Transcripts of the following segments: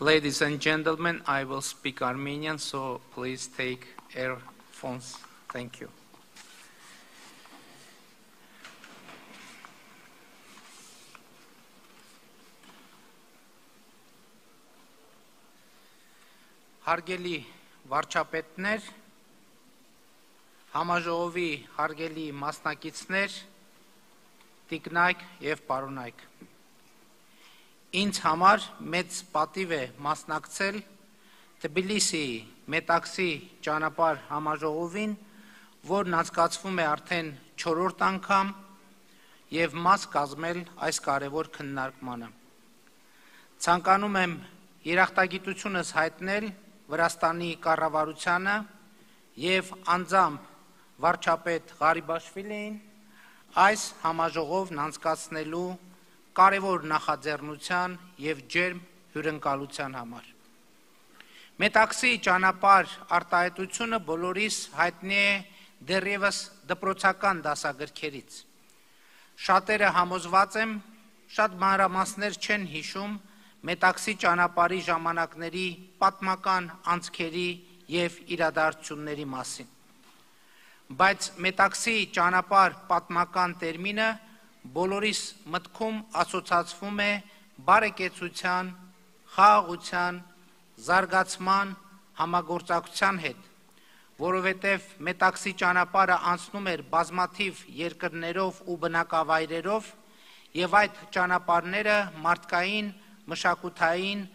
Ladies and gentlemen, I will speak Armenian, so please take earphones. Thank you. Հարգելի վարչապետներ, համաժողովի հարգելի մասնակիցներ, տիկնայք եւ պարոնայք։ Ինձ համար մեծ պատիվ է մասնակցել Թբիլիսիի Մետաքսի ճանապարհ համաժողովին, որն անցկացվում է արդեն 4-րդ անգամ եւ մաս կազմել այս կարևոր քննարկմանը։ Ցանկանում եմ երախտագիտությունս հայտնել Վրաստանի կառավարությանը եւ անձամբ վարչապետ Ղարիբաշվիլիին այս համաժողովն անցկացնելու կարևոր նախաձեռնության եւ ջերմ հյուրընկալության համար։ Մետաքսի ճանապարհ արտահայտությունը բոլորիս հայտնի է դեռևս դպրոցական դասագրքերից։ Շատերը համոզված եմ, շատ մանրամասներ չեն հիշում Մետաքսի ճանապարհի ժամանակների պատմական անցքերի եւ իրադարձությունների մասին։ Բայց Մետաքսի ճանապարհ պատմական տերմինը բոլորիս մտքում ասոցացվում է բարեկեցության, խաղաղության, զարգացման, համագործակցության հետ, որովհետև Մետաքսի ճանապարհը անցնում էր բազմաթիվ երկրներով ու բնակավայրերով, եւ այդ ճանապարհները մարդկային, մշակութային,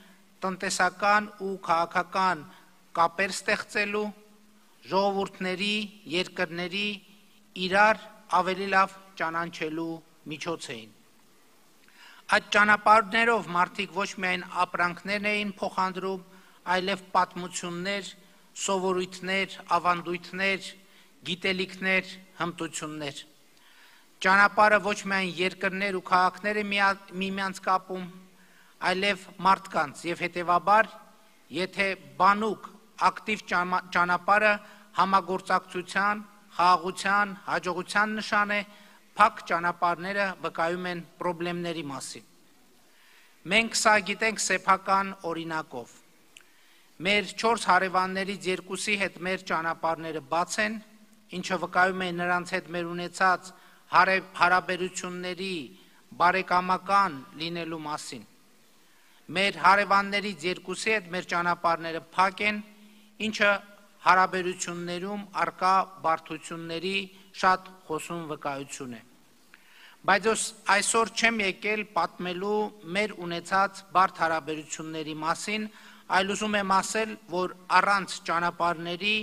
տնտեսական ու քաղաքական կապեր ստեղծելու, ժողովուրդների, երկրների իրար ավելի լավ ճանաչելու միջոց էին։ Այդ ճանապարհներով մարդիկ ոչ միայն ապրանքներ էին փոխանցում, այլև պատմություններ, սովորույթներ, ավանդույթներ, գիտելիքներ, հմտություններ։ Ճանապարհը ոչ միայն երկրներ ու քաղաքներ է միմյանց կապում, այլև մարդկանց եւ հետեւաբար, եթե բանուկ ակտիվ ճանապարհը համագործակցության, խաղաղության, հաջողության նշան է, փակ ճանապարհները վկայում են խնդիրների մասին։ Մենք սա գիտենք սեփական օրինակով։ Մեր 4 հարևաններից երկուսի հետ մեր ճանապարհները բաց են, ինչը վկայում է նրանց հետ մեր ունեցած հարաբերությունների բարեկամական լինելու մասին։ Մեր հարևաններից երկուսի հետ մեր ճանապարհները փակ են, ինչը հարաբերություններում արկա բարդությունների շատ խոսուն վկայություն է։ Բայց այսօր չեմ եկել պատմելու մեր ունեցած բարդ հարաբերությունների մասին, այլ ուզում եմ ասել, որ առանց ճանապարհների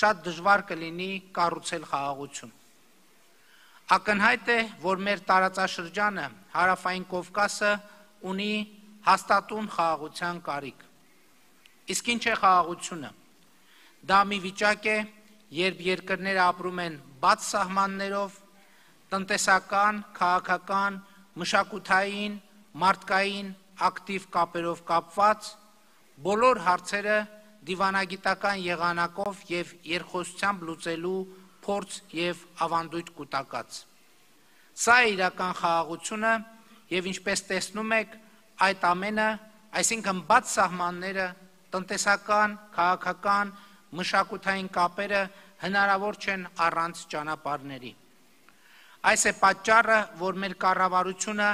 շատ դժվար կլինի կառուցել խաղաղություն։ Ակնհայտ է, որ մեր տարածաշրջանը, Հարավային Կովկասը, ունի հաստատուն խաղաղության կարիք։ Իսկ ինչ է խաղաղությունը։ Դա մի վիճակ է, երբ երկրները ապրում են բաց սահմաններով, տնտեսական, քաղաքական, մշակութային, մարդկային ակտիվ կապերով կապված, բոլոր հարցերը դիվանագիտական եղանակով եւ երկխոսությամբ լուծելու փորձ եւ ավանդույթ կուտակած։ Սա է իրական խաղաղությունը եւ ինչպես տեսնում եք, այդ ամենը, այսինքն բաց սահմանները, տնտեսական, քաղաքական, մշակութային կապերը հնարավոր չեն առանց ճանապարհների։ Այս է պատճառը, որ մեր կառավարությունը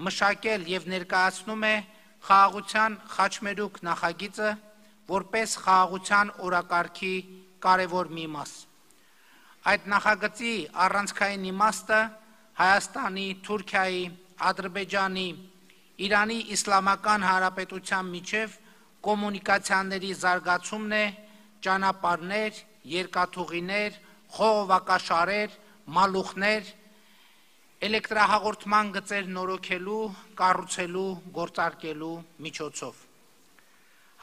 մշակել եւ ներկայացնում է խաղաղության խաչմերուկ նախագիծը, որպես խաղաղության օրակարգի կարևոր մի մաս։ Այդ նախագծի առանցքային իմաստը Հայաստանի, Թուրքիայի, Ադրբեջանի, Իրանի Իսլամական Հանրապետության միջև կոմունիկացիաների զարգացումն է, ճանապարհներ, երկաթուղիներ, խողովակաշարեր, մալուխներ, էլեկտրահաղորդման գծեր նորոգելու, կառուցելու, գործարկելու միջոցով։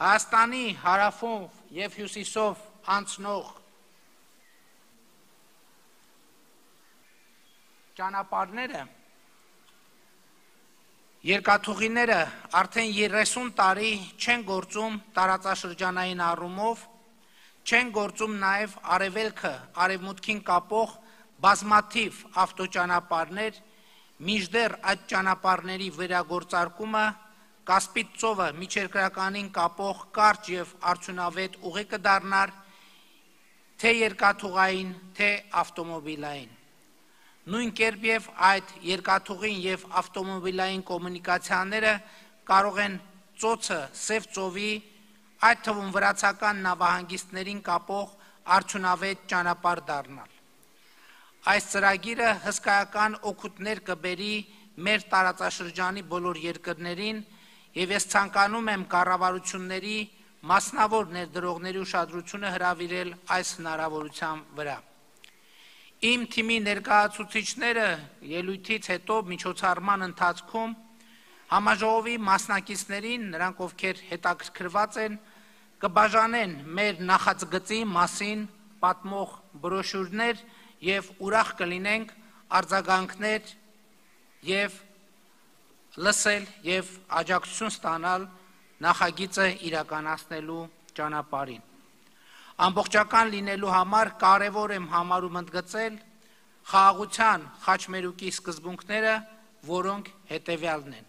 Հայաստանի հարավով եւ հյուսիսով անցնող ճանապարհները Երկաթուղիները արդեն 30 տարի չեն գործում տարածաշրջանային առումով, չեն գործում նաև արևելքը արևմուտքին կապող բազմաթիվ ավտոճանապարհներ, մինչդեռ այդ ճանապարհների վերագործարկումը Կասպից ծովը միջերկրականին կապող կարճ և արդյունավետ ուղի կդառնար թե երկաթուղային, թե ավտոմոբիլային։ Նույն կերպ և այդ երկաթուղին և ավտոմոբիլային կոմունիկացիաները կարող են ծոցը Սև ծովի, այդ թվում վրացական նավահանգիստներին կապող արդյունավետ ճանապարհ դառնալ։ Այս ծրագիրը հսկայական օգուտներ կբերի մեր տարածաշրջանի բոլոր երկրներին և ես ցանկանում եմ կառավարությունների մասնավոր ներդրողների ուշադրությունը հրավիրել այս հնարավորության վրա։ Իմ թիմի ներկայացուցիչները ելույթից հետո միջոցառման ընթացքում համաժողովի մասնակիցներին, նրանք ովքեր հետաքրքրված են, կբաժանեն մեր նախագծի մասին պատմող բրոշյուրներ և ուրախ կլինենք արձագանքներ և լսել և աջակցություն ստանալ նախագիծը իրականացնելու ճանապարհին։ Ամբողջական լինելու համար կարևոր եմ համարում ընդգծել խաղաղության խաչմերուկի սկզբունքները, որոնք հետևյալն են։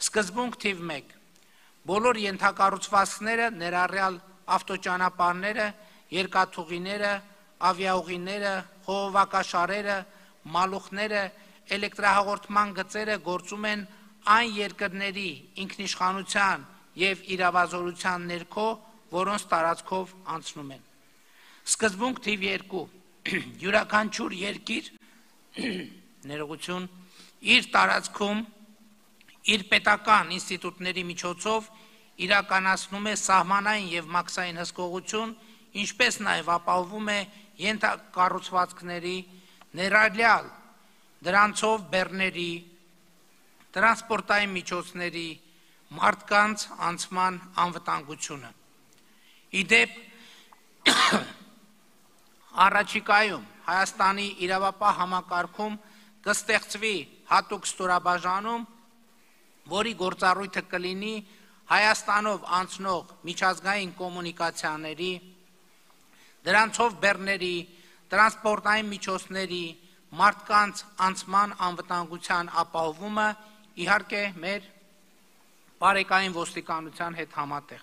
Սկզբունք թիվ 1. Բոլոր ենթակառուցվածքները, ներառյալ ավտոճանապարհները, երկաթուղիները, ավիաուղիները, խողովակաշարերը, մալուխները, էլեկտրահաղորդման գծերը գործում են այն երկրների ինքնիշխանության և իրավազորության ներքո, որոնց տարածքով անցնում են։ Սկզբունք թիվ 2. Յուրաքանչյուր երկիր իր տարածքում իր պետական ինստիտուտների միջոցով իրականացնում է սահմանային և մաքսային հսկողություն, ինչպես նաև ապահովում է ենթակառուցվածքների, ներառյալ դրանցով բեռների, տրանսպորտային միջոցների, մարդկանց անցման անվտանգությունը։ Ի դեպ, առաջիկայում Հայաստանի իրավապահ համակարգում կստեղծվի հատուկ ստորաբաժանում, որի գործառույթը կլինի Հայաստանով անցնող միջազգային կոմունիկացիաների, դրանցով բեռների, տրանսպորտային միջոցների, մարդկանց անցման անվտանգության ապահովումը, իհարկե մեր բարեկային ոստիկանության հետ համատեղ։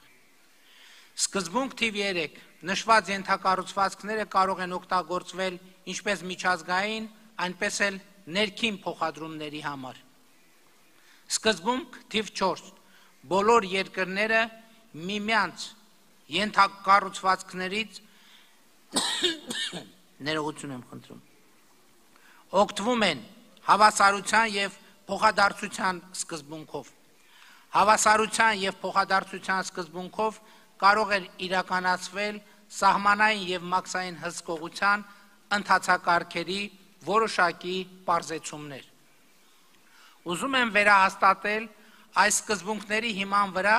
Սկզբունք թիվ 3. Նշված ենթակառուցվածքները կարող են օգտագործվել ինչպես միջազգային, այնպես էլ ներքին փոխադրումների համար։ Սկզբունք թիվ 4. Բոլոր երկրները միմյանց ենթակառուցվածքներից օգտվում են հավասարության և փոխադարձության սկզբունքով։ Հավասարության և փոխադարձության սկզբունքով կարող է իրականացվել սահմանային և մաքսային հսկողության ընթացակարգերի որոշակի պարզեցումներ։ Ուզում եմ վերահաստատել այս սկզբունքների հիման վրա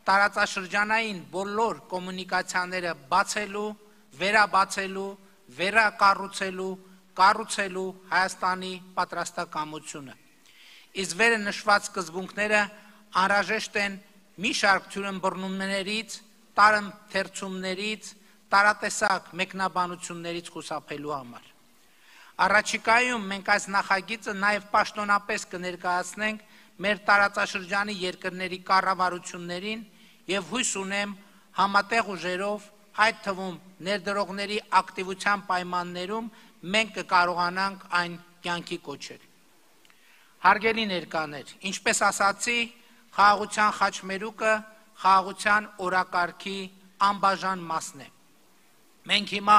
տարածաշրջանային բոլոր կոմունիկացիաները բացելու, վերաբացելու, վերակառուցելու, կառուցելու Հայաստանի պատրաստակամությունը։ Իսկ վերը նշված սկզբունքները անհրաժեշտ են մի շարք թյուրըմբռնումներից, տարընթերցումներից, տարատեսակ մեկնաբանություններից խուսափելու համար։ Առաջիկայում մենք այս նախագիծը նաև պաշտոնապես կներկայացնենք մեր տարածաշրջանի երկրների կառավարություններին և հույս ունեմ համատեղ ուժերով, այդ թվում ներդրողների ակտիվության պայմաններում մենք կկարողանանք այն կյանքի կոչել։ Հարգելի ներկաներ, ինչպես ասացի, խաղաղության խաչմերուկը խաղաղության օրակարգի անբաժան մասն է։ Մենք հիմա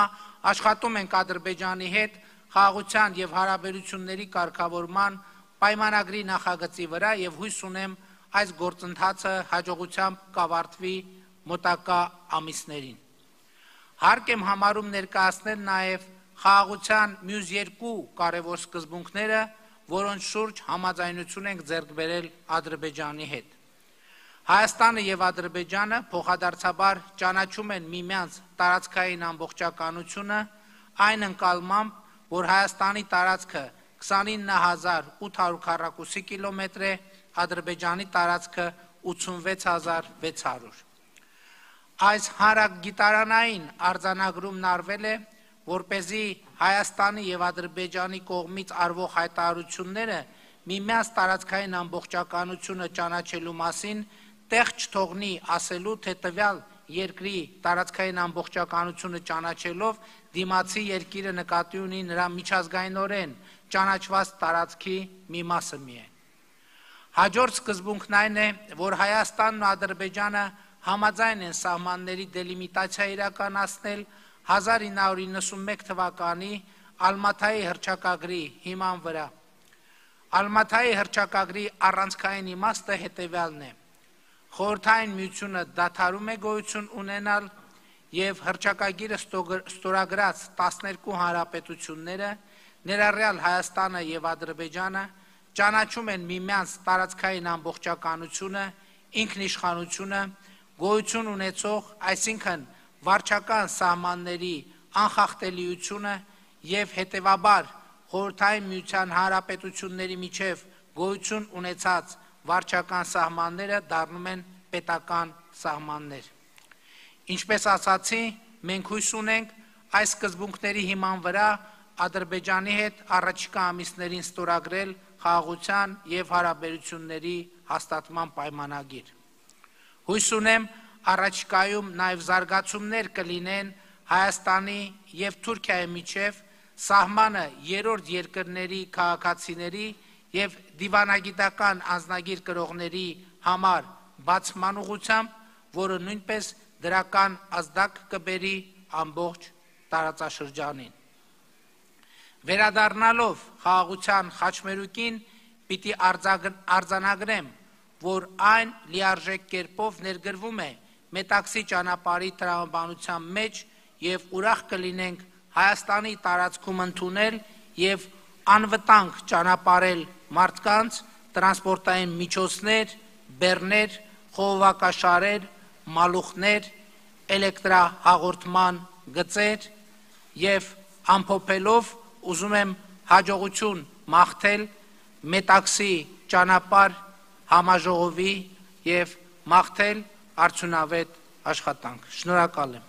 աշխատում ենք Ադրբեջանի հետ խաղաղության և հարաբերությունների կարգավորման պայմանագրի նախագծի վրա և հույս ունեմ այս գործընթացը հաջողությամբ կավարտվի մոտակա ամիսներին։ Հարկ եմ համարում ներկայացնել նաև խաղաղության մյուս երկու կարևոր սկզբունքները, որոնց շուրջ համաձայնություն ենք ձեռք բերել Ադրբեջանի հետ։ Հայաստանը և Ադրբեջանը փոխադարձաբար ճանաչում են միմյանց տարածքային ամբողջականությունը այն ընկալմամբ, որ Հայաստանի տարածքը 29800 քառակուսի կիլոմետր է, Ադրբեջանի տարածքը 86600։ Այս հանրագիտարանային արձանագրումն արվել է, որպեսզի Հայաստանի և Ադրբեջանի կողմից արվող հայտարարությունները միմյանց տարածքային ամբողջականությունը ճանաչելու մասին տեղ չթողնի ասելու, թե տվյալ երկրի տարածքային ամբողջականությունը ճանաչելով դիմացի երկիրը նկատի ունի նրա միջազգայինորեն ճանաչված տարածքի մի մասը միայն։ Հաջորդ սկզբունքն այն է, որ Հայաստանն ու Ադրբեջանը համաձայն են սահմանների դելիմիտացիա իրականացնել 1991 թվականի Ալմաթայի հռչակագրի հիման վրա։ Ալմաթայի հռչակագրի առանցքային իմաստը հետևյալն է. Խորհրդային միությունը դադարում է գոյություն ունենալ եւ հռչակագիրը ստորագրած 12 հանրապետությունները, ներառյալ Հայաստանը եւ Ադրբեջանը, ճանաչում են միմյանց տարածքային ամբողջականությունը, ինքնիշխանությունը, գոյություն ունեցող, այսինքն վարչական սահմանների անխախտելիությունը եւ հետեւաբար Խորհրդային միության հանրապետությունների միջև գոյություն ունեցած վարչական սահմանները դառնում են պետական սահմաններ։ Ինչպես ասացի, մենք հույս ունենք այս սկզբունքների հիման վրա Ադրբեջանի հետ առաջիկա ամիսներին ստորագրել խաղաղության եւ հարաբերությունների հաստատման պայմանագիր։ Հույս ունեմ առաջիկայում նաեւ զարգացումներ կլինեն Հայաստանի եւ Թուրքիայի միջև սահմանը երրորդ երկրների քաղաքացիների եւ դիվանագիտական անձնագիր կրողների համար բացման ուղղությամբ, որը նույնպես դրական ազդակ կբերի ամբողջ տարածաշրջանին։ Վերադառնալով խաղաղության խաչմերուկին, պիտի արձանագրեմ, որ այն լիարժեք կերպով ներգրվում է Մետաքսի ճանապարհի տրամաբանության մեջ եւ ուրախ կլինենք Հայաստանի տարածքում ընդունել եւ անվտանգ ճանապարհել մարդկանց, տրանսպորտային միջոցներ, բեռներ, խողովակաշարեր, մալուխներ, էլեկտրահաղորդման գծեր եւ ամփոփելով ուզում եմ հաջողություն մաղթել Մետաքսի ճանապարհ համաժողովի եւ մաղթել արդյունավետ աշխատանք։ Շնորհակալ եմ։